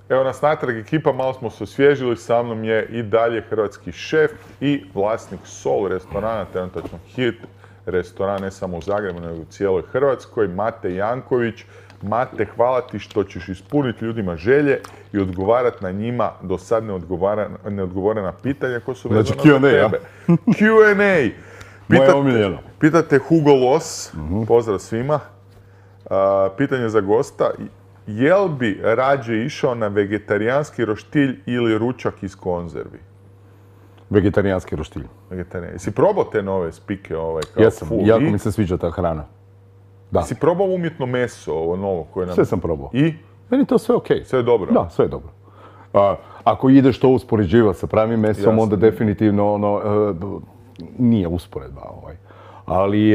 Evo nas natrag ekipa, malo smo se osvježili, sa mnom je i dalje hrvatski šef i vlasnik Sol restorana, trenutačno hit restoran ne samo u Zagrebu, nego u cijeloj Hrvatskoj, Mate Janković. Mate, hvala ti što ćeš ispuniti ljudima želje i odgovarati na njima do sad neodgovorena pitanja koja su vezana za tebe. Q&A! Moje omiljeno. Pitate Hugo Loss, pozdrav svima. Pitanje za gosta. Jel bi rađe išao na vegetarijanski roštilj ili ručak iz konzervi? Vegetarijanski roštilj. Jesi probao te nove spike kao Jesam, jako mi se sviđa ta hrana. Da. Jesi probao umjetno meso, ovo novo koje nam... Sve sam probao. I? Meni je to sve okej. Sve je dobro? Da, sve je dobro. Ako ideš to uspoređivati sa pravim mesom, onda definitivno nije usporedba. Ali...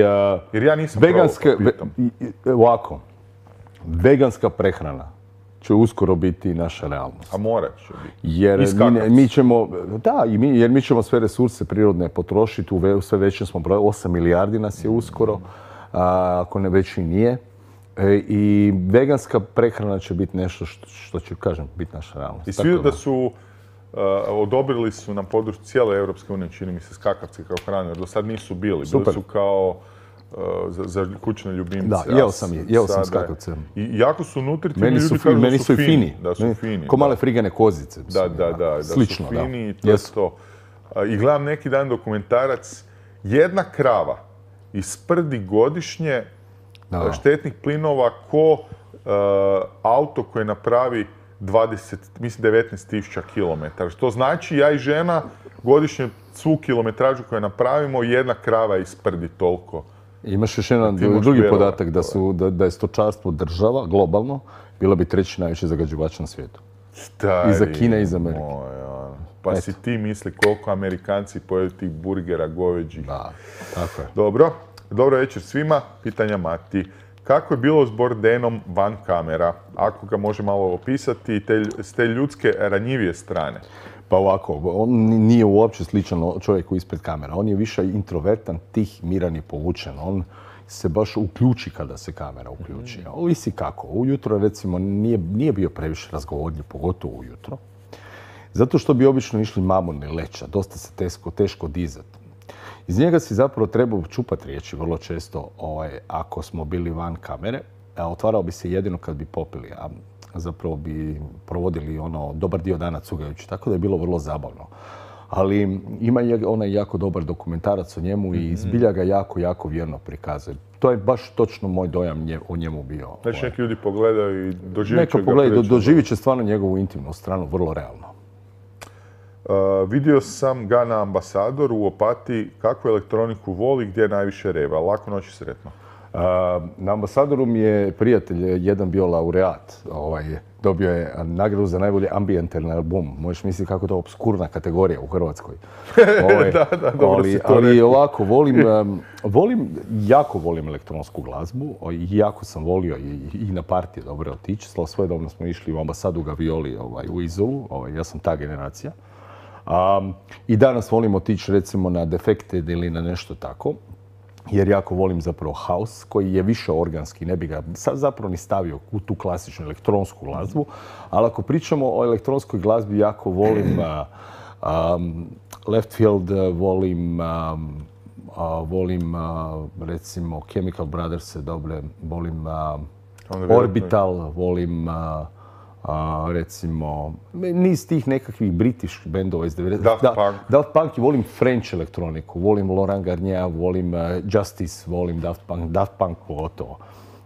Jer ja nisam ovako, veganska prehrana će uskoro biti naša realnost. A morat će biti. Jer mi ćemo sve resurse prirodne potrošiti u sve većem smo broju. 8 milijardi nas je uskoro, ako ne već i nije. I veganska prehrana će biti nešto što će, kažem, biti naša realnost. I svi da su odobrili su na području cijele Europske unije, čini mi se, skakavci kao hranu, jer do sad nisu bili. Super. Bili su kao za kućne ljubimce. Da, jeo sam skakavce. I jako su nutritivni, ljudi kažu meni su fini. Da su fini. Ko male frigane kozice. Da Slično, su fini i to je to. I gledam neki dan dokumentarac, jedna krava isprdi godišnje štetnih plinova ko auto koje napravi 19.000 km. Što znači ja i žena godišnje svu kilometražu koju napravimo, jedna krava isprdi toliko. Imaš još jedan drugi podatak da je stočarstvo država, globalno, bila bi treći najveći zagađivač na svijetu. Iza Kine i iza Amerike. Pa si ti misli koliko Amerikanci pojedu tih burgera, goveđih. Da, tako je. Dobro večer svima. Pitanja Mati. Kako je bilo s Bourdainem van kamera? Ako ga može malo opisati s te ljudske ranjivije strane. Pa ovako, on nije uopće sličan čovjeku ispred kamera. On je više introvertan, tih, miran i povučen. On se baš uključi kada se kamera uključi. Ovisi kako. Ujutro, recimo, nije bio previše razgovorljiv, pogotovo ujutro. Zato što bi obično išli mamuni leća. Dosta se teško dizati. Iz njega si zapravo trebao čupati riječi vrlo često ako smo bili van kamere. Otvarao bi se jedino kad bi popili, a zapravo bi provodili dobar dio dana cugajući, tako da je bilo vrlo zabavno. Ali ima onaj jako dobar dokumentarac o njemu i zbilja ga jako vjerno prikazuje. To je baš točno moj dojam o njemu bio. Znači neki ljudi pogledaju i doživit će ga. Neka pogledaju, doživit će stvarno njegovu intimnu stranu, vrlo realno. Vidio sam ga na Ambasadoru u Opatiji, kakvu elektroniku voli, gdje najviše reva. Lako noć i sretno. Na Ambasadoru mi je prijatelj jedan bio laureat. Dobio je nagradu za najbolji ambijentalni album. Možeš misliti kako je to obskurna kategorija u Hrvatskoj. Dobro si to rekao. Ali ovako, jako volim elektronsku glazbu. Jako sam volio i na partije dobro otići. Svojedobno smo išli u Ambasadu Gavioli u Izolu. Ja sam ta generacija. I danas volim otići recimo na Defected ili na nešto tako. Jer jako volim zapravo house koji je više organski, ne bi ga sad zapravo ni stavio u tu klasičnu elektronsku glazbu. Ali ako pričamo o elektronskoj glazbi, jako volim Left Field, volim recimo Chemical Brothers, volim Orbital, volim recimo niz tih nekakvih British bendova iz 90. Daft Punk i volim French elektroniku, volim Laurent Garnier, volim Justice, volim Daft Punk pogotovo.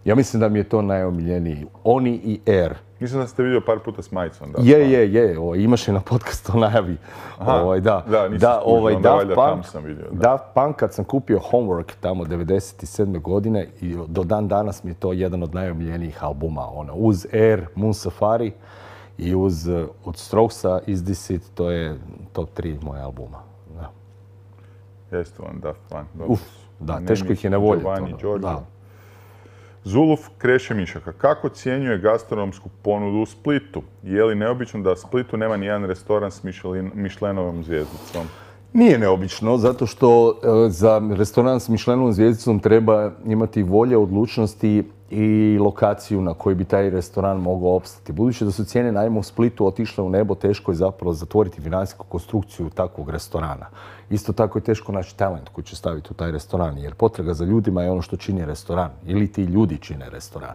Ja mislim da mi je to najomiljeniji. Oni i Air. Mislim da ste vidio par puta s majicom. Je. Imaš je na podcastu najavi. Daft Punk, kad sam kupio Homework tamo 1997. godine i do dan danas mi je to jedan od najomiljenijih albuma. Uz Air, Moon Safari i uz od Strokesa Is This It, to je top 3 moje albuma. Jeste vam Daft Punk. Teško ih je ne voljeti. Zuluf Kreše Mišaka. Kako ocjenjuje gastronomsku ponudu u Splitu? Je li neobično da u Splitu nema nijedan restoran s Mišlenovom zvijezdicom? Nije neobično, zato što za restoran s Mišlenovom zvijezdicom treba imati volje, odlučnosti i lokaciju na kojoj bi taj restoran mogao opstati. Budući da su cijene najma u Splitu otišle u nebo, teško je zapravo zatvoriti financijsku konstrukciju takvog restorana. Isto tako je teško naći talent koji će staviti u taj restoran, jer potraga za ljudima je ono što čini restoran, ili ti ljudi čine restoran.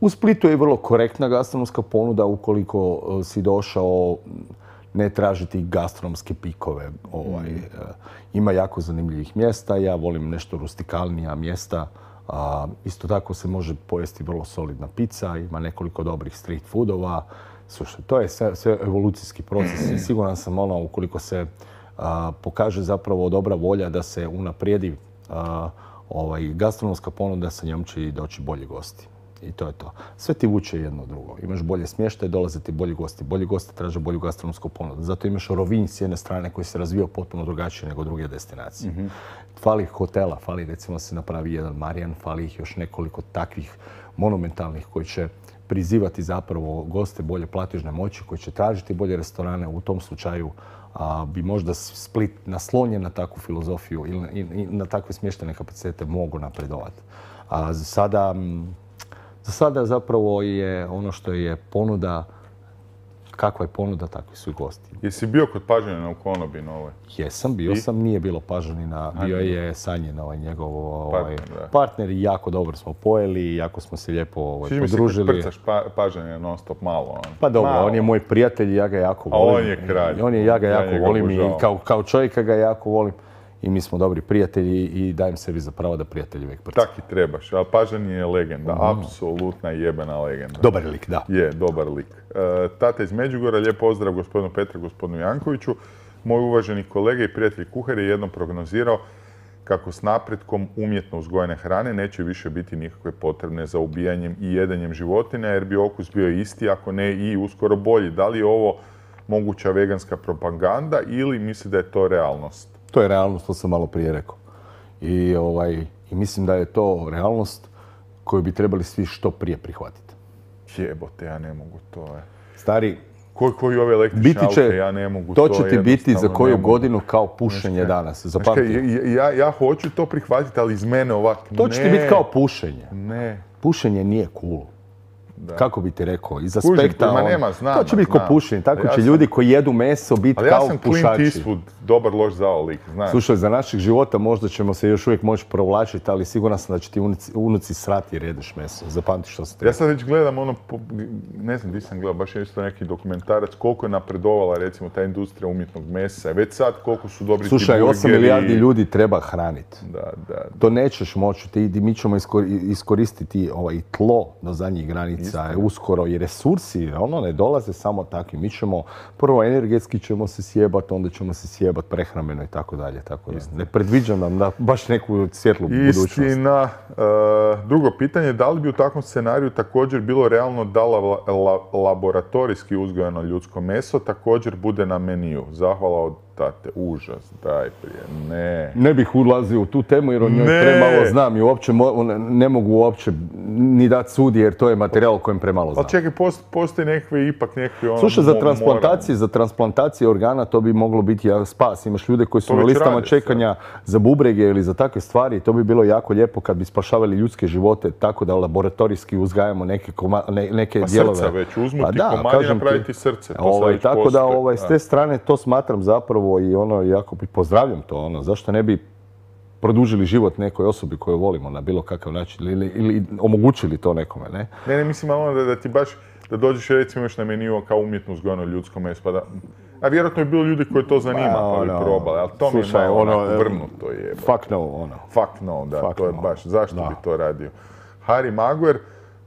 U Splitu je vrlo korektna gastronomska ponuda ukoliko si došao ne tražiti gastronomske pikove. Ima jako zanimljivih mjesta, ja volim nešto rustikalnija mjesta. Isto tako se može pojesti vrlo solidna pizza, ima nekoliko dobrih street foodova. Slušaj, to je sve evolucijski proces i siguran sam ukoliko se pokaže zapravo dobra volja da se unaprijedi gastronomska ponuda, sa njom će i doći bolji gosti. I to je to. Sve ti vuče jedno drugo. Imaš bolje smještaje, dolaze ti bolji gosti. Bolji gosti traže bolju gastronomsku ponudu. Zato imaš Rovinj s jedne strane koji se razvijao potpuno drugačije nego druge destinacije. Fali hotela, fali recimo se napravi jedan Marijan, fali ih još nekoliko takvih monumentalnih koji će prizivati zapravo goste bolje platežne moći, koji će tražiti bolje restorane. U tom slučaju bi možda Split naslonjen na takvu filozofiju ili na takve smještene kapacitete mogu napredovati. A za sada zapravo je ono što je ponuda, kakva je ponuda, takvi su i gosti. Jesi bio kod Pažanina u konobi novoj? Jesam, bio sam, nije bilo Pažanina, bio je Sanjin, njegov partner i jako dobro smo pojeli, jako smo se lijepo podružili. Čini mi se kad prcaš Pažanina non stop malo. Pa dobro, on je moj prijatelj i ja ga jako volim. A on je kralj. Ja ga jako volim i kao čovjeka ga jako volim. I mi smo dobri prijatelji i dajem sebi za pravo da prijatelji uvijek prcaju. Tak i trebaš, a Pažanin je legenda, apsolutna jebena legenda. Dobar lik, da. Je, dobar lik. Tata iz Međugorja, lijep pozdrav gospodinu Petru, gospodinu Jankoviću. Moj uvaženi kolega i prijatelj kuhar je jednom prognozirao kako s napretkom umjetno uzgojene hrane neće više biti nikakve potrebne za ubijanjem i jedenjem životinja, jer bi okus bio isti, ako ne i uskoro bolji. Da li je ovo moguća veganska propaganda ili misli da je to realnost? To je realnost, to sam malo prije rekao. I mislim da je to realnost koju bi trebali svi što prije prihvatiti. Jebote, ja ne mogu to. Stari, koji ove električne aute, ja ne mogu to. To će ti biti za koju godinu kao pušenje danas. Ja hoću to prihvatiti, ali iz mene ovak ne. To će ti biti kao pušenje. Ne. Pušenje nije cool. Kako bi ti rekao, iz aspekta to će biti ko pušenje, tako će ljudi koji jedu meso biti kao pušači. Ali ja sam Clint Eastwood, dobar loš zao lik, znaš. Slušaj, za naših života možda ćemo se još uvijek moći provlačiti, ali siguran sam da će ti unuci srati jer jedeš meso. Zapamti što sam to. Ja sad već gledam ne znam gdje sam gledao, baš je isto neki dokumentarac, koliko je napredovala recimo ta industrija umjetnog mesa. Već sad koliko su dobri ti burgeri. Slušaj, 8 milijardi ljudi treba hraniti. Da. To nećeš moći, mi ćemo iskoristiti tlo do zadnjih granica. Uskoro i resursi, ne dolaze samo takvi. Mi ćemo, prvo energetski ćemo se sjebati, onda ćemo se sjebati prehrambeno i tako dalje. Ne predviđam nam da baš neku svjetlu budućnost. Istina. Drugo pitanje, da li bi u takvom scenariju također bilo realno da laboratorijski uzgojeno ljudsko meso također bude na meniju? Zahvala od tate. Užas, daj prije. Ne. Ne bih ulazio u tu temu jer o njoj premalo znam i uopće ne mogu uopće ni dati sudi jer to je materijal o kojem premalo znam. Ali čekaj, postoji nekakve Slušaj, za transplantacije organa to bi moglo biti spas. Imaš ljude koji su na listama čekanja za bubrege ili za takve stvari. To bi bilo jako lijepo kad bi spašavali ljudske živote tako da laboratorijski uzgajamo neke dijelove. Srca već, uzmuti komad i napraviti srce. Tako da s te strane to smatram zapravo i jako pozdravljam to. Zašto ne bi produžili život nekoj osobi koju volimo na bilo kakav način ili omogućili to nekome, ne? Ne, mislim da ti baš, da dođeš recimo još na meniju kao umjetno uzgojeno ljudsko meso, a vjerojatno je bilo ljudi koji to zanima pa bi probali, ali to mi je malo vrnuto je. Fuck no, Fuck no, da, to je baš, zašto bi to radio? Harry Maguire,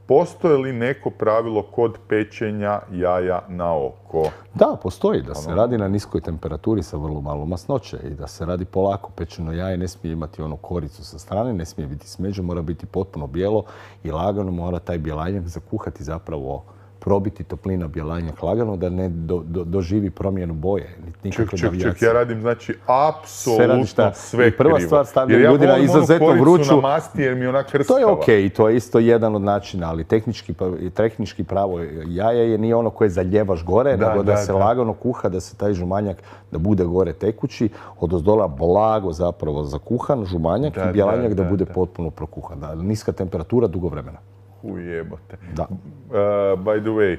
postoji li neko pravilo kod pečenja jaja na oko? Da, postoji. Da se radi na niskoj temperaturi sa vrlo malo masnoće i da se radi polako. Pečeno jaje ne smije imati onu koricu sa strane, ne smije biti smeđe, mora biti potpuno bijelo i lagano mora taj bjelanjak zakuhati zapravo probiti toplina bjelanjak lagano, da ne doživi promjenu boje. Ček, ja radim znači apsolutno sve krivo. Prva stvar, stavljam ljudi na izuzetno vruću. Na masti jer mi je ona krskava. To je okej, to je isto jedan od načina, ali tehnički pravo jaje nije ono koje zaljevaš gore, nego da se lagano kuha, da se taj žumanjak, da bude gore tekući, odozdola blago zapravo zakuhan žumanjak i bjelanjak da bude potpuno prokuhan. Niska temperatura, dugo vremena. Ujebote. By the way,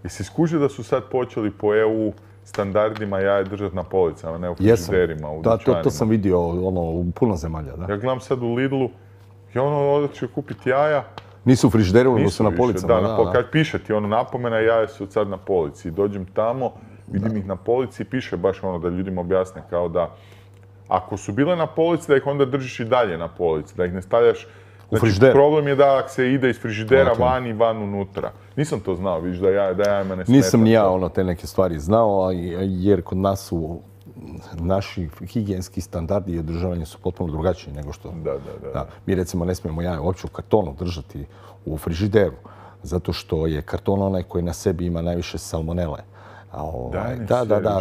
jesi skužio da su sad počeli po EU standardima jaje držati na policama, ne u frižiderima, u dućanima? To sam vidio u puno zemalja, da. Ja gledam sad u Lidlu, ja odakle kupiti jaja. Nisu u frižideru, nego su na policama. Kad piše ti napomena, jaja su sad na polici. Dođem tamo, vidim ih na polici i piše baš da ljudima objasne kao da ako su bile na polici, da ih onda držiš i dalje na polici, da ih ne stavljaš. Znači, problem je da se ide iz frižidera van i van unutra. Nisam to znao, vidiš da jajima ne smeta. Nisam ni ja te neke stvari znao, jer kod nas su naši higijenski standardi i održavanje su potpuno drugačiji nego što... Da. Mi recimo ne smijemo jaje uopće u kartonu držati u frižideru, zato što je karton onaj koji na sebi ima najviše salmonele.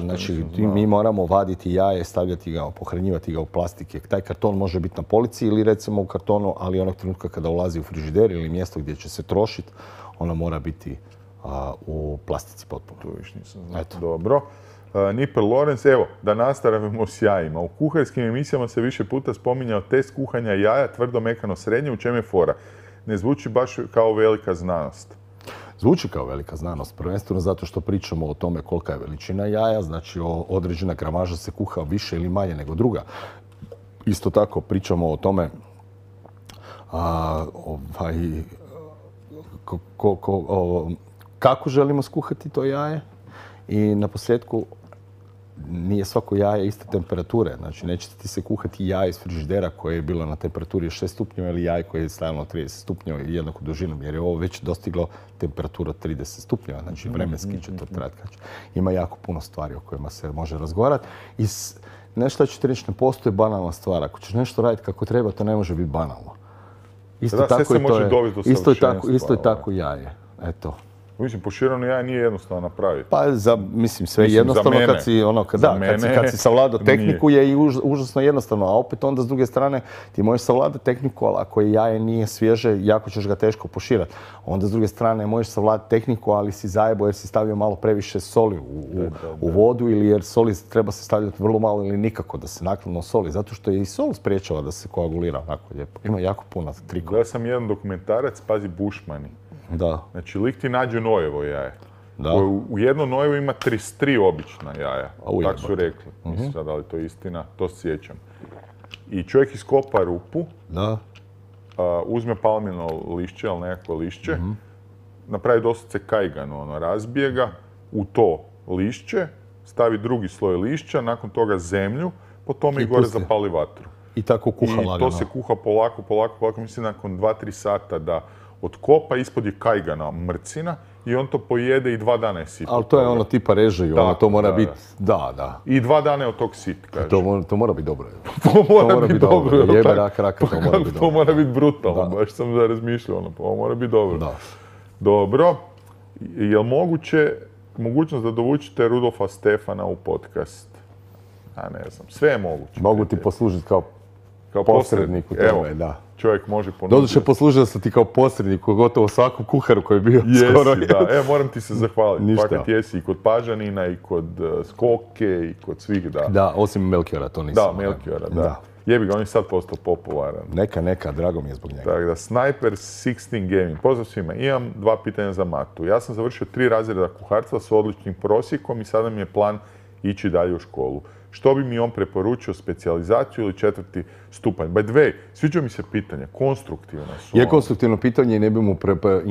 Znači mi moramo vaditi jaje, stavljati ga, pohranjivati ga u plastike. Taj karton može biti na polici ili recimo u kartonu, ali onog trenutka kada ulazi u frižider ili mjesto gdje će se trošiti, ona mora biti u plastici potpuno. Tu viš nisam znao. Dobro. Nipper Lorenz, evo, da nastavimo s jajima. U kuharskim emisijama se više puta spominjao test kuhanja jaja, tvrdo, mekano, srednje, u čem je fora? Ne zvuči baš kao velika znanost. Zvuči kao velika znanost, prvenstveno zato što pričamo o tome kolika je veličina jaja, znači određena gramaža se kuha više ili manje nego druga. Isto tako pričamo o tome kako želimo skuhati to jaje i naposljetku nije svako jaje iste temperature. Znači, neće ti se kuhati jaje iz frižidera koje je bilo na temperaturi 6 stupnjeva ili jaje koje je stavljeno 30 stupnjeva i jednako dužinom, jer je ovo već dostiglo temperaturu 30 stupnjeva. Znači, vremenski će to trajati. Ima jako puno stvari o kojima se može razgovarati. I nešto ću ti reći, ne postoji banalna stvar. Ako ćeš nešto raditi kako treba, to ne može biti banalno. Isto je tako jaje. Eto. Mislim, poširano jaje nije jednostavno napraviti. Pa, sve jednostavno kad si savladao tehniku je i užasno jednostavno, a opet onda s druge strane ti možeš savladati tehniku, ali ako jaje nije svježe, jako ćeš ga teško poširati. Onda s druge strane možeš savladati tehniku, ali si zajebo jer si stavio malo previše soli u vodu ili jer soli treba se stavljati vrlo malo ili nikako da se naknadno soli, zato što je i sol spriječava da se koagulira onako lijepo. Ima jako puno trikova. Gledao sam jedan dokumentarac, pazi, Bušmani. Da. Znači, lik ti nađe nojevo jaje. U jedno nojevo ima 33 obična jaja. Tako su rekli. Mislim sad, da li to je istina, to se sjećam. I čovjek iskopa rupu, uzme palmino lišće, ali nekako lišće, napravi doslovce kajganu, razbije ga u to lišće, stavi drugi sloj lišća, nakon toga zemlju, po tome i gore zapali vatru. I tako kuha lagano. I to se kuha polako, mislim nakon 2-3 sata da otkopa, ispod je kajgana mrcina i on to pojede i 2 dana je sit. Ali to je ono tipa režiju, to mora biti, I 2 dana je od tog sit, kaže. To mora biti dobro. To mora biti dobro. Jebe raka, to mora biti dobro. To mora biti brutalno, baš sam razmišljao, ovo mora biti dobro. Dobro, je li mogućnost da dovučite Rudolfa Stefana u podcast? Ne znam, sve je moguće. Mogu ti poslužiti kao posrednik u tome, da. Čovjek može ponuditi. Doduše, poslužio sam ti kao posrednik u gotovo svakom kuharu koji je bio skoro. Jesi, da. Moram ti se zahvaliti. Fakat jesi i kod Pažanina, i kod Skoke, i kod svih, da. Da, osim Melchiora, to nisam. Da, Melchiora, da. Jebi ga, on je sad postao popularan. Neka, drago mi je zbog njega. Tako da, Sniper 16 Gaming. Pozdrav svima. Imam 2 pitanja za Matu. Ja sam završio 3 razreda kuharstva s odličnim prosjekom i sada mi je plan ići dalje u školu. Što bi mi on preporučio, specijalizaciju ili 4. stupanj? By the way, sviđa mi se pitanje, konstruktivno su. Je konstruktivno pitanje i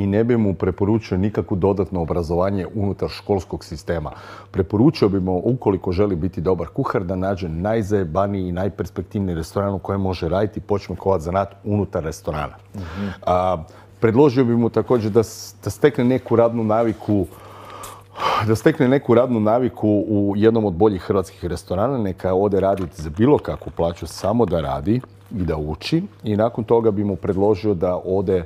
ne bi mu preporučio nikakvo dodatno obrazovanje unutar školskog sistema. Preporučio bi mu, ukoliko želi biti dobar kuhar, da nađe najzajebaniji i najperspektivniji restoran u kojem može raditi i počne kovati zanat unutar restorana. Predložio bi mu također da stekne neku radnu naviku u jednom od boljih hrvatskih restorana, neka ode raditi za bilo kakvu plaću, samo da radi i da uči. I nakon toga bi mu predložio da ode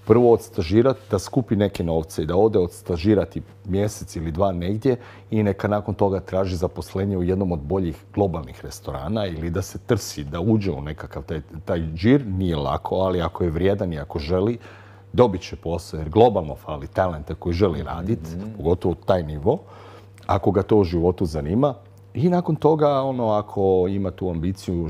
prvo odstažirati, da skupi neke novce i da ode odstažirati mjesec ili dva negdje i neka nakon toga traži zaposlenje u jednom od boljih globalnih restorana ili da se trsi, da uđe u nekakav taj džir. Nije lako, ali ako je vrijedan i ako želi, dobit će posao jer globalno fali talenta koji želi raditi, pogotovo taj nivo, ako ga to u životu zanima. I nakon toga, ako ima tu ambiciju,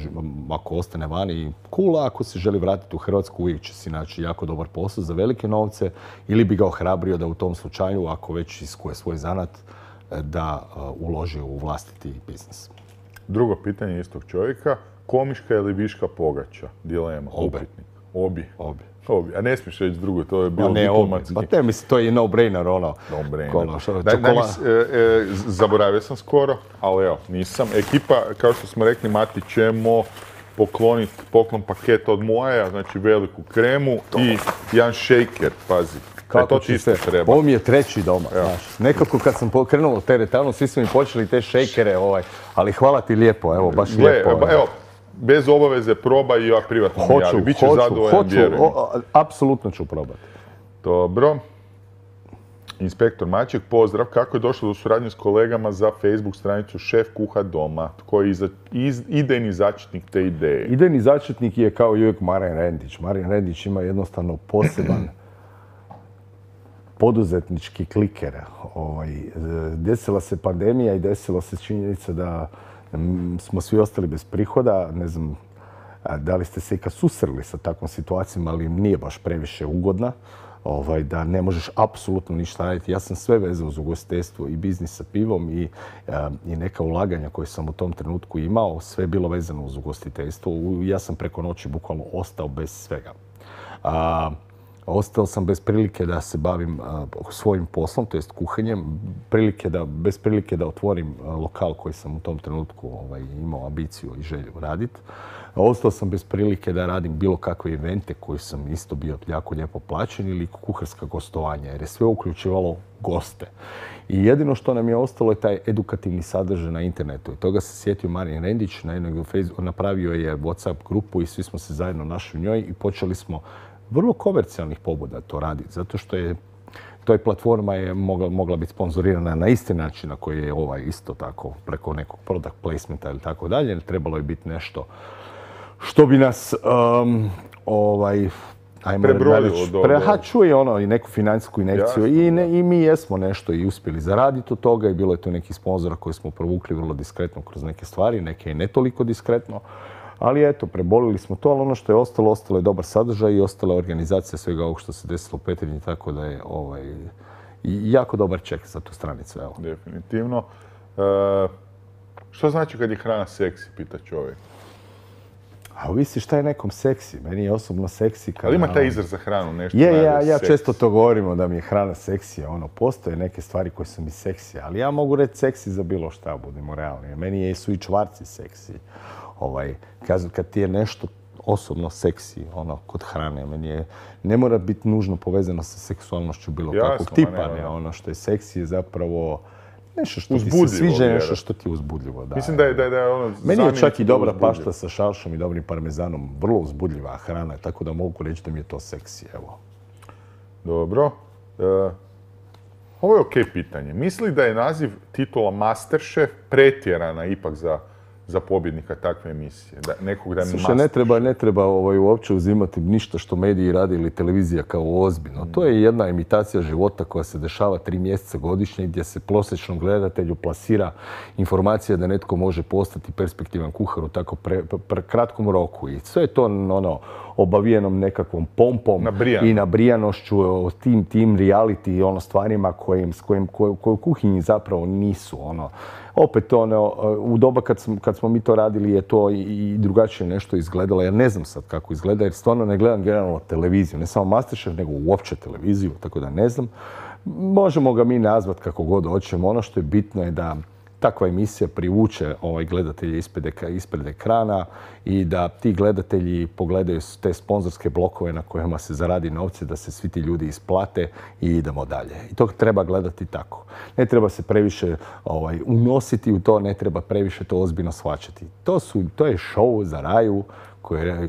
ako ostane vani, cool, ako se želi vratiti u Hrvatsku, uvijek će si naći jako dobar posao za velike novce ili bi ga ohrabrio da u tom slučaju, ako već iskuje svoj zanat, da uloži u vlastiti biznis. Drugo pitanje istog čovjeka, komiška ili viška pogača? Dilema, upitnik. Obje. A ne smiješ reći drugo, to je bilo diplomatski. Pa te mislim, to je no-brainer, Zaboravio sam skoro, ali evo, nisam. Ekipa, kao što smo rekli, Mati, ćemo pokloniti poklon paket od Moaja, znači veliku kremu i jedan shaker, pazi. Kako ti se treba? Ovo mi je treći doma, znaš. Nekako kad sam krenuo teretanu, svi su mi počeli te shakere, ali hvala ti lijepo, evo, baš lijepo. Evo, bez obaveze probaj i ja privatno mi javi. Biće zadovoljan, vjerujem. Apsolutno ću probati. Dobro. Inspektor Maček, pozdrav. Kako je došlo do suradnje s kolegama za Facebook stranicu Šef kuha doma? Tko je idejni začetnik te ideje? Idejni začetnik je kao i uvijek Marin Rendić. Marin Rendić ima jednostavno poseban poduzetnički kliker. Desila se pandemija i desila se činjenica da smo svi ostali bez prihoda. Ne znam da li ste se ikad susreli sa takvom situacijom, ali nije baš previše ugodna. Da ne možeš apsolutno ništa raditi. Ja sam sve vezao uz ugostiteljstvo i biznis sa pivom i neka ulaganja koje sam u tom trenutku imao. Sve je bilo vezano uz ugostiteljstvo. Ja sam preko noći bukvalno ostao bez svega. Ostao sam bez prilike da se bavim svojim poslom, to jest kuhanjem, bez prilike da otvorim lokal koji sam u tom trenutku imao ambiciju i želju raditi. Ostao sam bez prilike da radim bilo kakve evente koji sam isto bio jako lijepo plaćen ili kuharska gostovanja, jer je sve uključivalo goste. I jedino što nam je ostalo je taj edukativni sadržaj na internetu. I toga se sjetio Marin Rendić, napravio je WhatsApp grupu i svi smo se zajedno našli u njoj i počeli smo vrlo komercijalnih pobuda to raditi, zato što je toj platforma je mogla biti sponzorirana na isti način na koji je isto tako, preko nekog product placementa ili tako dalje. Trebalo je biti nešto što bi nas prebrojilo dobro. Čuje i neku financijsku injekciju. I mi jesmo nešto i uspjeli zaraditi od toga i bilo je tu nekih sponzora koje smo provukli vrlo diskretno kroz neke stvari, neke i ne toliko diskretno. Ali eto, prebolili smo to, ali ono što je ostalo je dobar sadržaj i ostala je organizacija svega ovog što se desilo u Petrinji, tako da je jako dobar ček za tu stranicu. Evo. Definitivno. Što znači kad je hrana seksi, pita čovjek? A ovisi šta je nekom seksi. Meni je osobno seksi kada... Ali ima taj izraz za hranu, nešto ja često to govorimo da mi je hrana seksija. Postoje neke stvari koje su mi seksije, ali ja mogu reći seksi za bilo šta, budemo realni. Meni su i čvarci seksi. Kad ti je nešto osobno seksi, kod hrane, ne mora biti nužno povezano sa seksualnošću bilo kakvog tipa. Ono što je seksi je zapravo nešto što ti se sviđa, nešto što ti je uzbudljivo. Mislim da je ono... Meni je čak i dobra pašta sa šalšom i dobrim parmezanom vrlo uzbudljiva hrana, tako da mogu reći da mi je to seksi, evo. Dobro. Ovo je okej pitanje. Misli da je naziv titula Masterchef pretjerana ipak za pobjednika takve emisije? Slušaj, ne treba uopće uzimati ništa što mediji radi ili televizija kao ozbiljno. To je jedna imitacija života koja se dešava 3 mjeseca godišnje gdje se prosječnom gledatelju plasira informacija da netko može postati perspektivan kuhar u tako kratkom roku. I sve je to obavijenom nekakvom pompom i nabrijanošću o tim reality stvarima koje u kuhinji zapravo nisu. Opet u doba kad smo mi to radili je to i drugačije nešto izgledalo. Ja ne znam sad kako izgleda jer stvarno ne gledam generalno televiziju. Ne samo Masterchef nego uopće televiziju, tako da ne znam. Možemo ga mi nazvati kako god hoćemo. Ono što je bitno je da takva emisija privuče gledatelje ispred ekrana i da ti gledatelji pogledaju te sponzorske blokove na kojima se zaradi novce, da se svi ti ljudi isplate i idemo dalje. I to treba gledati tako. Ne treba se previše unositi u to, ne treba previše to ozbiljno shvaćati. To je show za raju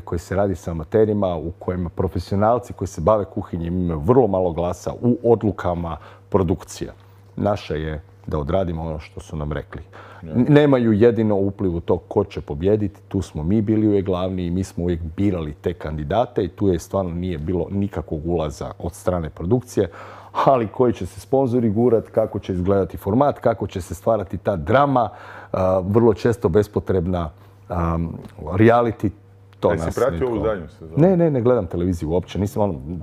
koji se radi sa amaterima, u kojima profesionalci koji se bave kuhinjem imaju vrlo malo glasa u odlukama produkcija. Naše je da odradimo ono što su nam rekli. Nemaju jedino upliv u to ko će pobjediti, tu smo mi bili uvijek glavni i mi smo uvijek birali te kandidate i tu je stvarno nije bilo nikakvog ulaza od strane produkcije, ali koji će se sponzori gurati, kako će izgledati format, kako će se stvarati ta drama, vrlo često bespotrebna reality. Jesi pratio ovu zadnju sezonu? Ne gledam televiziju uopće.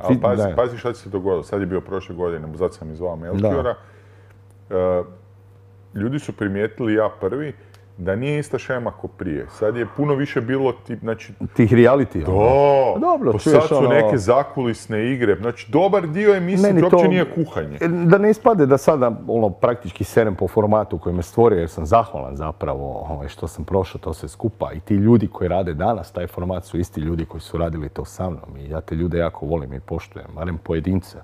Ali pazi šta se dogodilo. Sad je bio prošle godine, zato sam i zvao Melchiora. Ljudi su primijetili, ja prvi, da nije ista šema ko prije. Sad je puno više bilo tih reality. Dobro, sad su neke zakulisne igre. Znači, dobar dio emisije uopće nije kuhanje. Da ne ispade da sada praktički serem po formatu koji me stvorio, jer sam zahvalan zapravo što sam prošao to sve skupa. I ti ljudi koji rade danas taj format su isti ljudi koji su radili to sa mnom. I ja te ljude jako volim i poštujem, barem pojedince.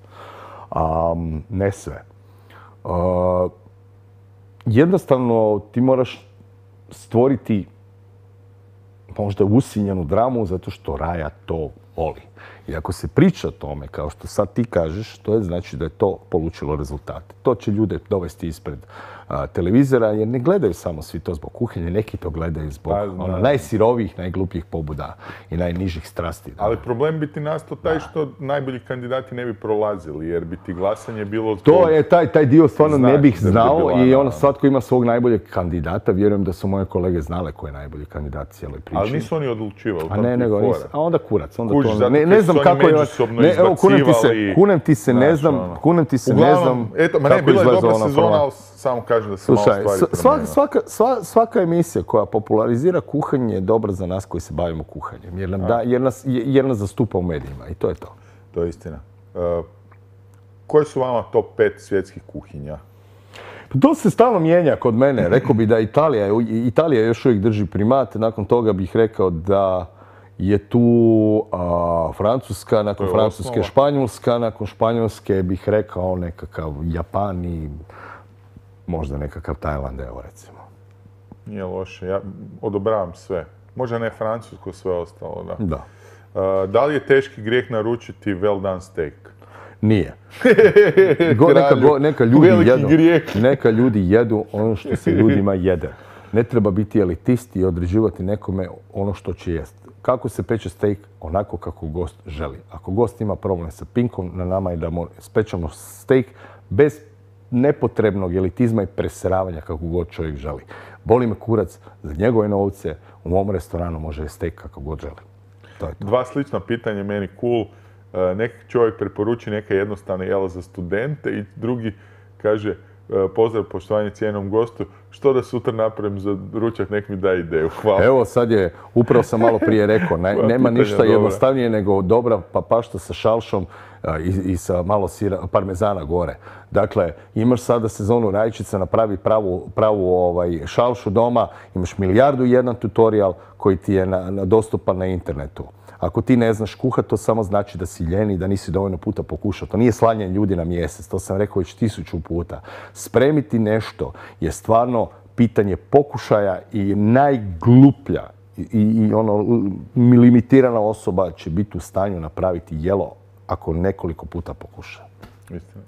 Ne sve. Jednostavno ti moraš stvoriti možda usinjenu dramu zato što Raja to voli. I ako se priča o tome, kao što sad ti kažeš, to je znači da je to polučilo rezultate. To će ljude dovesti ispred televizora jer ne gledaju samo svi to zbog kuhinje, neki to gledaju zbog najsirovijih, najglupljih pobuda i najnižih strasti. Ali problem bi ti nastao taj što najbolji kandidati ne bi prolazili jer bi ti glasanje bilo... To je taj dio stvarno ne bih znao i svatko ima svog najboljeg kandidata. Vjerujem da su moje kolege znale ko je najbolji kandidat cijeloj priči. Ali nisu oni odlučivali. A onda kurac. Ne znam kako je... Evo, kunem ti se, ne znam kako izgleda ona sezona, samo kažem da se malo stvari promijenila. Svaka emisija koja popularizira kuhanje je dobra za nas koji se bavimo kuhanjem, jer nas zastupa u medijima i to je to. To je istina. Koji su vama top 5 svjetskih kuhinja? To se stalno mijenja kod mene. Rekao bi da Italija još uvijek drži primat, nakon toga bih rekao da je tu Francuska, nakon Francuske Španjolska, nakon Španjolske bih rekao nekakav Japan i možda nekakav Tajland, evo recimo. Nije loše, ja odobravam sve. Možda ne Francusko, sve ostalo, da. Da. Da li je teški grijeh naručiti well done steak? Nije. Neka ljudi jedu ono što se ljudima jede. Ne treba biti elitist i određivati nekome ono što će jesti. Kako se peče steak? Onako kako gost želi. Ako gost ima problem sa pinkom, na nama je da spečemo steak bez nepotrebnog elitizma i preseravanja kako god čovjek želi. Boli me kurac, za njegove novce u mom restoranu može steak kako god želi. To je to. Dva slična pitanja meni cool. Neki čovjek preporuči neke jednostavne jela za studente i drugi kaže pozdrav, poštovanje cijenom gostu, što da sutra napravim za ručak, nek mi da ideju. Hvala. Evo sad je, upravo sam malo prije rekao, nema ništa jednostavnije nego dobra papašta sa šalšom i sa malo parmezana gore. Dakle, imaš sada sezonu rajčica, napravi pravu šalšu doma, imaš 1001 tutorial koji ti je dostupan na internetu. Ako ti ne znaš kuhat, to samo znači da si ljen i da nisi dovoljno puta pokušao. To nije slanje ljudi na mjesec, to sam rekao već 1000 puta. Spremiti nešto je stvarno pitanje pokušaja i najgluplja i limitirana osoba će biti u stanju napraviti jelo ako nekoliko puta pokuša.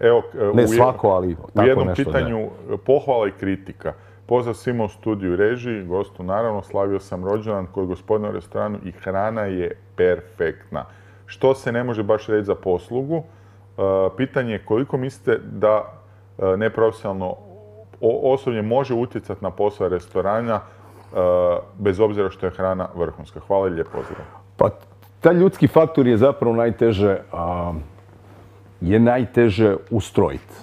Evo, ne svako, ali tako nešto. U jednom pitanju pohvala i kritika. Pozdrav svima u studiju i režiji, gostu naravno, slavio sam rođendan kod gospodina u restoranu i hrana je perfektna. Što se ne može baš reći za poslugu? Pitanje je koliko mislite da neprofesionalno osoblje može utjecati na posao restorana bez obzira što je hrana vrhunska. Hvala i lijep pozdrav. Pa, taj ljudski faktor je zapravo najteže ustrojiti.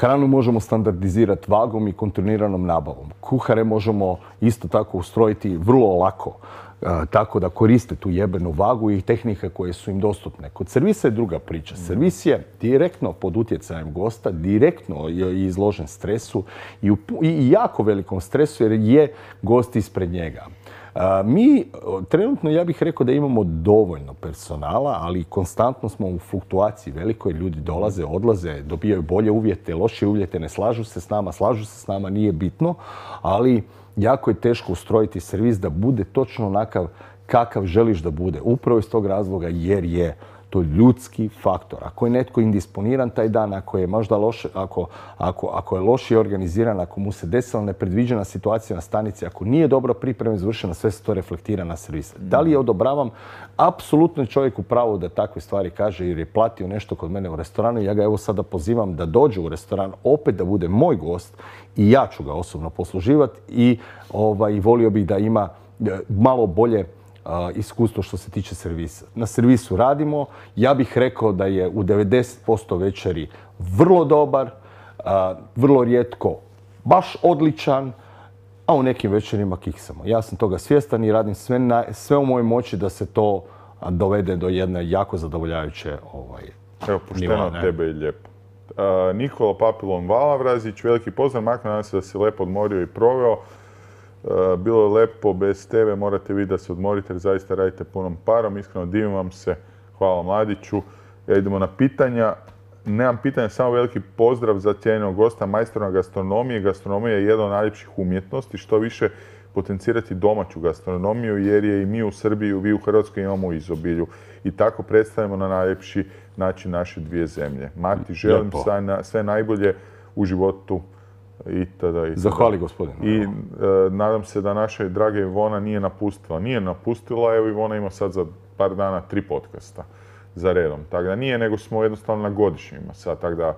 Hranu možemo standardizirati vagom i kontinuiranom nabavom. Kuhare možemo isto tako ustrojiti vrlo lako, tako da koriste tu jebenu vagu i tehnike koje su im dostupne. Kod servisa je druga priča. Servis je direktno pod utjecajem gosta, direktno je izložen stresu i jako velikom stresu jer je gost ispred njega. Mi trenutno, ja bih rekao da imamo dovoljno personala, ali konstantno smo u fluktuaciji velikoj. Ljudi dolaze, odlaze, dobijaju bolje uvjete, lošije uvjete, ne slažu se s nama, nije bitno, ali jako je teško ustrojiti servis da bude točno onakav kakav želiš da bude. Upravo iz tog razloga jer je to ljudski faktor. Ako je netko indisponiran taj dan, ako je možda loše, ako je lošije organiziran, ako mu se desila nepredviđena situacija na stanici, ako nije dobro pripremljen, izvršena, sve se to reflektira na servis. Da li je odobravam? Apsolutno je čovjek u pravu da takve stvari kaže jer je platio nešto kod mene u restoranu. Ja ga evo sada pozivam da dođe u restoran, opet da bude moj gost i ja ću ga osobno posluživati i volio bih da ima malo bolje iskustvo što se tiče servisa. Na servisu radimo. Ja bih rekao da je u 90% večeri vrlo dobar, vrlo rijetko baš odličan, a u nekim večerima kiksamo. Ja sam toga svjestan i radim sve u mojoj moći da se to dovede do jedne jako zadovoljavajuće Evo, pošteno od tebe i lijepo. Nikola Papilon Valavrazić, veliki pozdrav, Marko, nadam se da si lepo odmorio i proveo. Bilo je lepo, bez tebe morate vi da se odmorite jer zaista radite punom parom. Iskreno divim vam se. Hvala Mladiću. Idemo na pitanja. Nemam pitanja, samo veliki pozdrav za cijenjenog gosta, majstora gastronomije. Gastronomija je jedna od najljepših umjetnosti. Što više potencirati domaću gastronomiju jer je i mi u Srbiji, vi u Hrvatskoj imamo u izobilju. I tako predstavimo na najljepši način naše dvije zemlje. Mati, želim sve najbolje u životu. Zahvali gospodine. I nadam se da naša draga Ivona nije napustila. Nije napustila, evo Ivona ima sad za par dana 3 podcasta za redom. Tako da nije, nego smo jednostavno na godišnjima sad. Tako da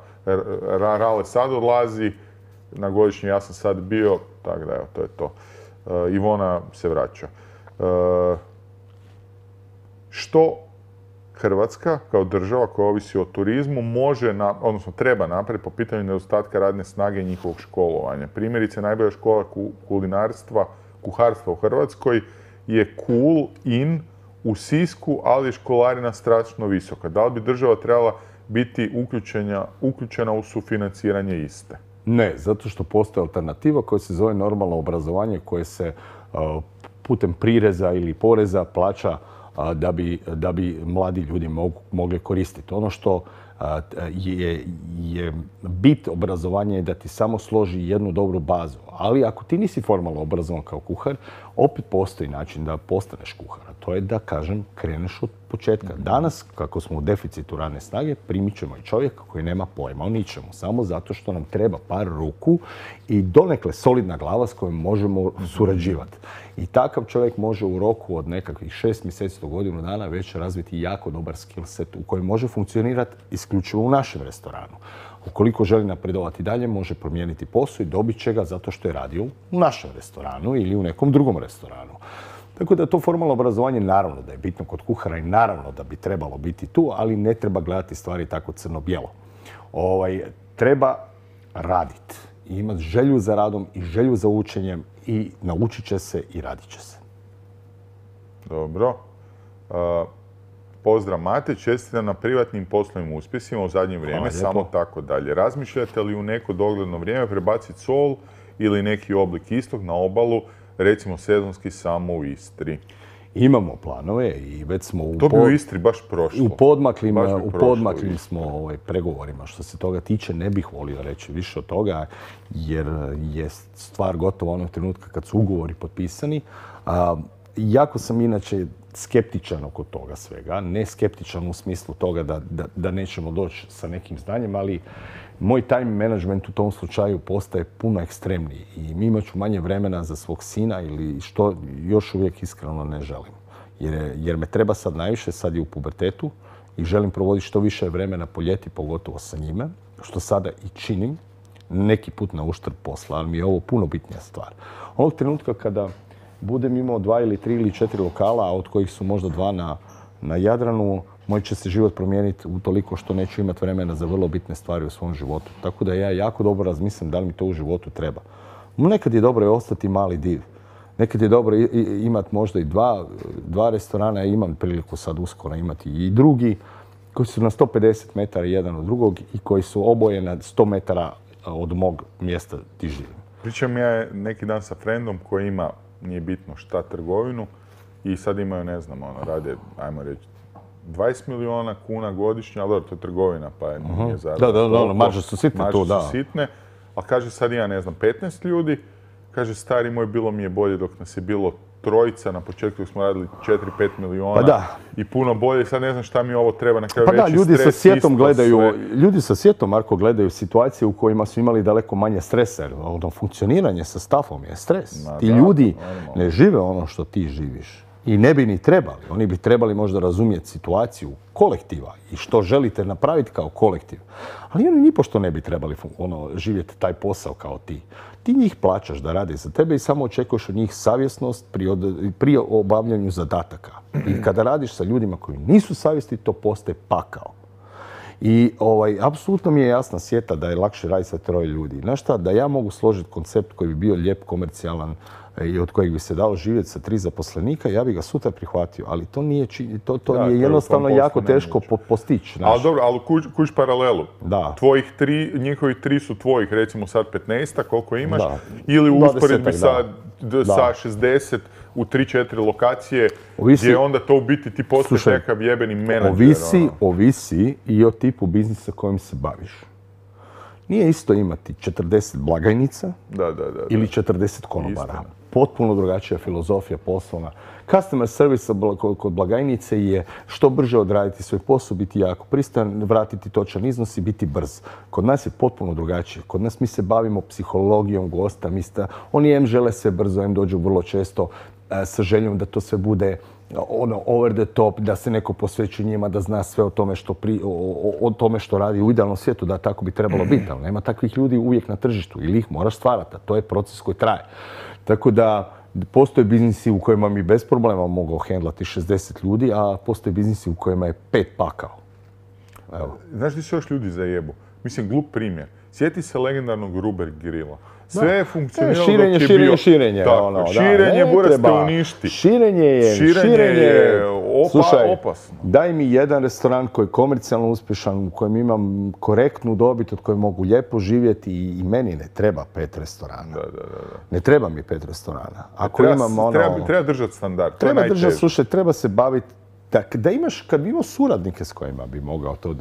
Rale sad odlazi, na godišnji ja sam sad bio, tako da evo, to je to. Ivona se vraća. Što Hrvatska kao država koja ovisi o turizmu može, odnosno treba napraviti po pitanju nedostatka radne snage i njihovog školovanja. Primjerice, najbolja škola kuharstva u Hrvatskoj je Cool In u Sisku, ali je školarina strašno visoka. Da li bi država trebala biti uključena u sufinanciranje iste? Ne, zato što postoji alternativa koja se zove normalno obrazovanje koje se putem prireza ili poreza plaća da bi mladi ljudi mogli koristiti. Ono što je bit obrazovanja je da ti samo složi jednu dobru bazu. Ali ako ti nisi formalno obrazovan kao kuhar, opet postoji način da postaneš kuhar. To je da, kažem, kreneš od početka. Danas, kako smo u deficitu radne snage, primit ćemo i čovjeka koji nema pojma o ničemu. Samo zato što nam treba par ruku i donekle solidna glava s kojom možemo surađivati. I takav čovjek može u roku od nekakvih 6 mjeseci do godinu dana već razviti jako dobar skill set u kojem može funkcionirati isključivo u našem restoranu. Ukoliko želi napredovati dalje, može promijeniti posao i dobit će ga zato što je radio u našem restoranu ili u nekom drugom restoranu. Tako da to formalno obrazovanje naravno da je bitno kod kuhara i naravno da bi trebalo biti tu, ali ne treba gledati stvari tako crno-bijelo. Treba raditi i imati želju za radom i želju za učenjem i naučit će se i radit će se. Dobro. Pozdrav Mate, čestitam na privatnim poslovnim uspjesima u zadnje vrijeme, samo tako dalje. Razmišljate li u neko dogledno vrijeme prebaciti Sol ili neki oblik istog na obalu, recimo sezonski samo u Istri? Imamo planove i već smo to bi u Istri baš prošlo. U podmaklim smo pregovorima. Što se toga tiče, ne bih volio reći više od toga, jer je stvar gotova onog trenutka kad su ugovori potpisani. Jako sam inače skeptičan oko toga svega. Ne skeptičan u smislu toga da nećemo doći sa nekim znanjem, ali moj time management u tom slučaju postaje puno ekstremniji i mi imat ću manje vremena za svog sina ili što još uvijek iskreno ne želim. Jer me treba sad najviše, sad je u pubertetu i želim provoditi što više vremena po ljeti, pogotovo sa njime, što sada i činim, neki put na uštrb posla, ali mi je ovo puno bitnija stvar. Onog trenutka kada budem imao 2 ili 3 ili 4 lokala, a od kojih su možda 2 na Jadranu, moj će se život promijeniti utoliko što neću imati vremena za vrlo bitne stvari u svom životu. Tako da ja jako dobro razmislim da li mi to u životu treba. Nekad je dobro ostati mali div. Nekad je dobro imati možda i dva restorana. Ja imam priliku sad uskoro imati i drugi koji su na 150 metara jedan od drugog i koji su oboje na 100 metara od mog mjesta gdje živim. Pričam ja neki dan sa frendom koji ima, nije bitno šta, trgovinu i sad imaju, ne znam, rade, ajmo reći, 20 milijuna kuna godišnje, ali dobro, to je trgovina, pa nije zarada. Da, marže su sitne tu, da. Marže su sitne, ali kaže sad ima, ne znam, 15 ljudi, kaže stari moj, bilo mi je bolje dok nas je bilo trojica, na početku smo radili 4-5 milijuna i puno bolje, sad ne znam šta mi ovo treba na kraju veći ljudi stres, sa sjetom ljudi sa sjetom, Marko, gledaju situacije u kojima su imali daleko manje stresa, jer funkcioniranje sa stafom je stres. Ti ljudi ne žive ono što ti živiš. I ne bi ni trebali. Oni bi trebali možda razumjeti situaciju kolektiva i što želite napraviti kao kolektiv. Ali oni nipošto ne bi trebali živjeti taj posao kao ti. Ti njih plaćaš da rade za tebe i samo očekuješ od njih savjesnost pri obavljanju zadataka. I kada radiš sa ljudima koji nisu savjesni, to postaje pakao. I apsolutno mi je jasna sjeta da je lakše raditi sa 3 ljudi. Znaš šta, da ja mogu složiti koncept koji bi bio lijep, komercijalan i od kojeg bi se dalo živjeti sa 3 zaposlenika, ja bi ga sutra prihvatio. Ali to nije jednostavno jako teško postići. Ali dobro, ali kuć paralelu. Njihovih 3 su tvojih, recimo sad 15, koliko imaš, ili u usporedbi sa 60 u 3-4 lokacije, gdje onda to u biti ti postaješ nekav jebeni menadžer. Ovisi i o tipu biznisa kojim se baviš. Nije isto imati 40 blagajnica ili 40 konobara. Potpuno drugačija filozofija poslovna. Customer service kod blagajnice je što brže odraditi svoj posao, biti jako pristojan, vratiti točan iznos i biti brz. Kod nas je potpuno drugačije. Kod nas mi se bavimo psihologijom gosta. Oni žele sve brzo, dođu vrlo često sa željom da to sve bude over the top, da se neko posveći njima, da zna sve o tome što radi u idealnom svijetu, da tako bi trebalo biti. Ali nema takvih ljudi uvijek na tržištu ili ih moraš stvarati. To je proces koji traje. Tako da postoje biznisi u kojima mi bez problema mogu hendlati 60 ljudi, a postoje biznisi u kojima je 5 pakao. Evo. Znaš gdje se još ljudi zajebu? Mislim, glup primjer. Sjeti se legendarnog Ruber grila. Sve je funkcioniralo dok je bio... Širenje. Širenje, Buras te uništi. Širenje je opasno. Daj mi jedan restoran koji je komercijalno uspješan, u kojem imam korektnu dobit, od koje mogu lijepo živjeti i meni ne treba 5 restorana. Ne treba mi 5 restorana. Treba držati standard. Treba držati, slušaj, treba se baviti... Kad bi imao suradnike s kojima bi mogao to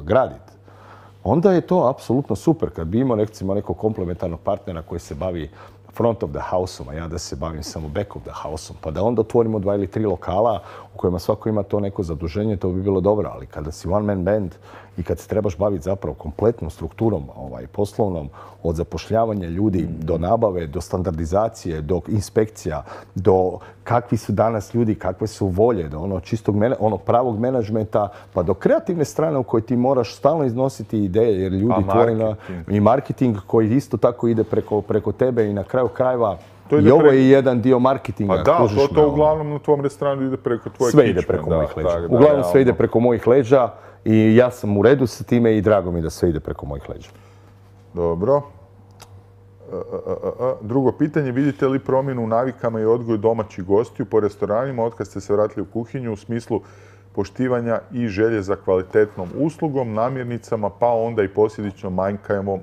graditi, onda je to apsolutno super. Kad bi imao recimo nekog komplementarnog partnera koji se bavi front of the house-om, a ja da se bavim samo back of the house-om, pa da onda otvorimo 2 ili 3 lokala u kojima svako ima to neko zaduženje, to bi bilo dobro. Ali kada si one man band i kad se trebaš baviti zapravo kompletnom strukturom poslovnom, od zapošljavanja ljudi do nabave, do standardizacije, do inspekcija, do kakvi su danas ljudi, kakve su volje, do čistog pravog menadžmenta, pa do kreativne strane u kojoj ti moraš stalno iznositi ideje, jer ljudi tvoji i marketing koji isto tako ide preko tebe i na kraju krajeva i ovo je jedan dio marketinga. Pa da, to uglavnom na tvom restoranu ide preko tvoje kičme. Sve ide preko mojih leđa. Uglavnom sve ide preko mojih leđa i ja sam u redu sa time i drago mi da sve ide preko mojih leđa. Dobro. Drugo pitanje, vidite li promjenu u navikama i odgoju domaćih gostiju po restoranima otkad ste se vratili u kuhinju u smislu poštivanja i želje za kvalitetnom uslugom, namirnicama, pa onda i posljedično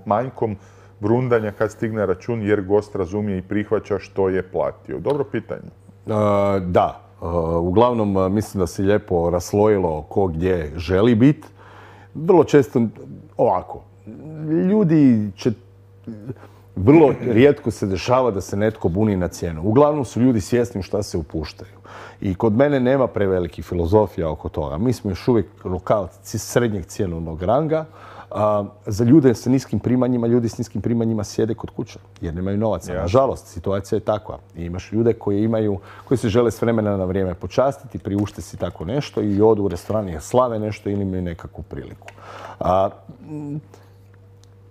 manjkom brundanja kad stigne račun jer gost razumije i prihvaća što je platio? Dobro pitanje. Da. Uglavnom mislim da se lijepo raslojilo ko gdje želi biti. Vrlo često ovako. Ljudi će... Vrlo rijetko se dešava da se netko buni na cijenu. Uglavnom su ljudi svjesni šta se upuštaju. I kod mene nema prevelikih filozofija oko toga. Mi smo još uvijek lokal srednjeg cjenovnog ranga. Za ljude sa niskim primanjima, ljudi s niskim primanjima sjede kod kuće jer nemaju novaca. Nažalost, situacija je takva. I imaš ljude koji se žele s vremena na vrijeme počastiti, priušte si tako nešto i odu u restoran jer slave nešto ili imaju nekakvu priliku.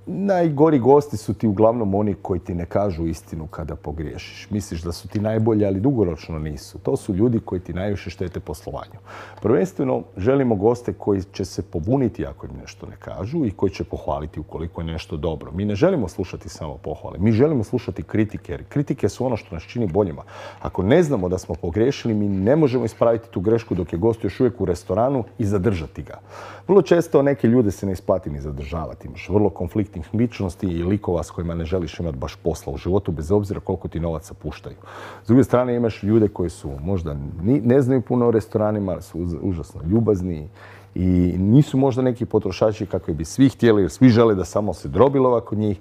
najgori gosti su ti uglavnom oni koji ti ne kažu istinu kada pogriješiš. Misliš da su ti najbolji, ali dugoročno nisu. To su ljudi koji ti najviše štete poslovanju. Prvenstveno želimo goste koji će se pobuniti ako im nešto ne kažu i koji će pohvaliti ukoliko je nešto dobro. Mi ne želimo slušati samo pohvale, mi želimo slušati kritike, jer kritike su ono što nas čini boljima. Ako ne znamo da smo pogriješili, mi ne možemo ispraviti tu grešku dok je gost još uvijek u restoranu i zadržati ga. Vrlo često neke ljude se ne isplati ni zadržavati. Imaš vrlo konfliktnih ličnosti i likova s kojima ne želiš imati baš posla u životu, bez obzira koliko ti novaca puštaju. S druge strane imaš ljude koji su možda ne znaju puno o restoranima, su užasno ljubazni i nisu možda neki potrošači kakvi bi svi htjeli, jer svi žele da samo se drobilova kod njih.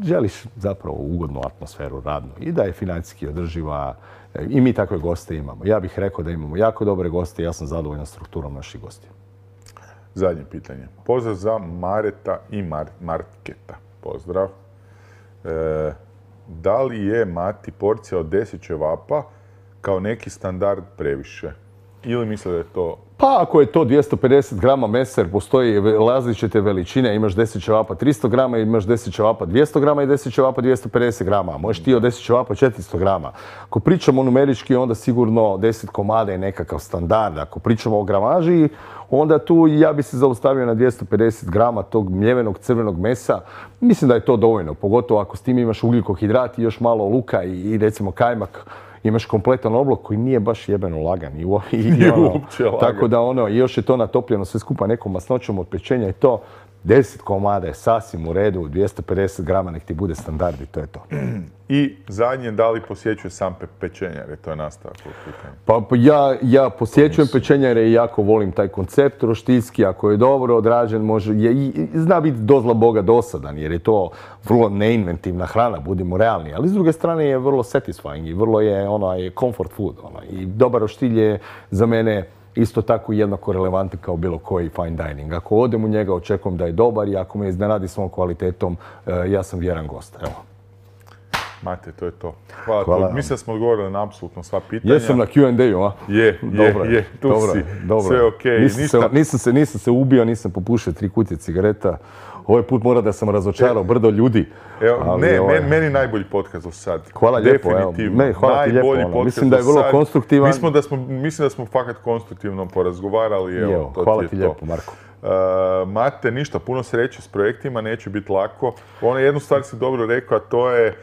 Želiš zapravo ugodnu atmosferu radnu i da je financijski održiva. I mi takve goste imamo. Ja bih rekao da imamo jako dobre goste i ja sam zadovoljan strukturom naših gostiju. Zadnje pitanje. Pozdrav za Mareta i Marketa. Pozdrav. Da li je, Mati, porcija od 10 ćevapa kao neki standard previše? Ili misle da je to... Pa ako je to 250 grama mesa, jer postoji različite veličine, imaš 10 ćevapa 300 grama, imaš 10 ćevapa 200 grama i 10 ćevapa 250 grama. Možeš ti od 10 ćevapa 400 grama. Ako pričamo numerički, onda sigurno 10 komada je nekakav standard. Ako pričamo o gramaži, onda tu ja bi se zaustavio na 250 grama tog mljevenog crvenog mesa. Mislim da je to dovoljno, pogotovo ako s tim imaš ugljikohidrat i još malo luka i recimo kajmak. Imaš kompletan oblok koji nije baš jebeno lagan. Nije uopće lagan. Tako da još je to natopljeno sve skupa nekom masnoćom od pečenja i to 10 komada je sasvim u redu, 250 grama nek ti bude standard i to je to. I zadnje, da li posjećuje sam pečenjar, jer to je nastavak ovog pitanja. Pa ja posjećujem pečenjare i jako volim taj koncept roštilski, ako je dobro odrađen, zna biti dozla Boga dosadan, jer je to vrlo neinventivna hrana, budimo realni, ali s druge strane je vrlo satisfying i vrlo je comfort food. I dobar roštilj je za mene isto tako jednako relevantan kao bilo koji fine dining. Ako odem u njega, očekujem da je dobar i ako me iznenadi svom kvalitetom, ja sam vjeran gost. Evo. Mate, to je to. Hvala. Mislim da smo odgovorili na apsolutno sva pitanja. Jesam na Q&A-u, a? Je, tu si. Sve okej. Nisam se ubio, nisam popušio 3 kutije cigareta. Ovaj put mora da sam razočarao brdo ljudi. Meni najbolji podcast do sad. Hvala lijepo. Definitivno. Hvala ti lijepo. Mislim da je vrlo konstruktivan. Mislim da smo fakat konstruktivno porazgovarali. Hvala ti lijepo, Marko. Mate, ništa, puno sreće s projektima, neće biti lako. Jednu stvar si dobro rekao, a to je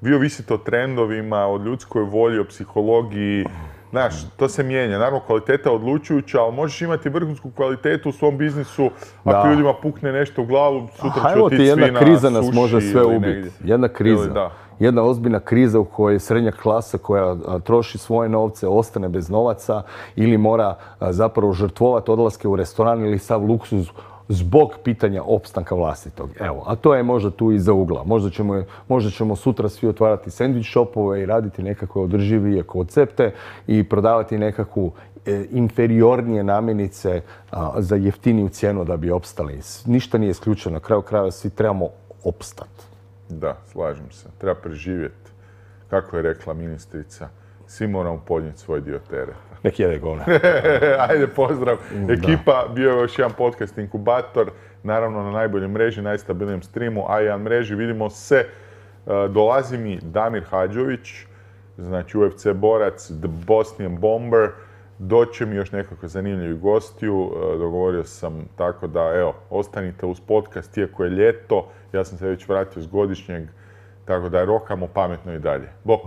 vi ovisite o trendovima, o ljudskoj volji, o psihologiji. Znaš, to se mijenja. Naravno, kvaliteta je odlučujuća, ali možeš imati vrhunsku kvalitetu u svom biznisu. Ako ljudima pukne nešto u glavu, sutra će otići svi na suši. Jedna kriza nas može sve ubiti. Jedna kriza. Jedna ozbiljna kriza u kojoj srednja klasa koja troši svoje novce, ostane bez novaca ili mora zapravo žrtvovati odlaske u restoran ili sav luksuz zbog pitanja opstanka vlastitog. Evo, a to je možda tu iza ugla. Možda ćemo sutra svi otvarati sandvič shopove i raditi nekakve održivije koncepte i prodavati nekakvu inferiornije namirnice za jeftiniju cijenu da bi opstali. Ništa nije isključeno. Na kraju krajeva svi trebamo opstati. Da, slažem se. Treba preživjeti. Kako je rekla ministrica, svi moramo podnijeti svoj dio tereta. Nek jede govna. Ajde, pozdrav. Ekipa, bio je još jedan podcast Inkubator. Naravno na najboljoj mreži, najstabilnijem streamu, A1 mreži. Vidimo se. Dolazi mi Damir Hadžović, znači UFC borac, The Bosnian Bomber. Doće mi još nekako zanimljivi gostiju. Dogovorio sam tako da, evo, ostanite uz podcast, iako je ljeto. Ja sam se već vratio s godišnjeg, tako da rokamo pametno i dalje. Bok!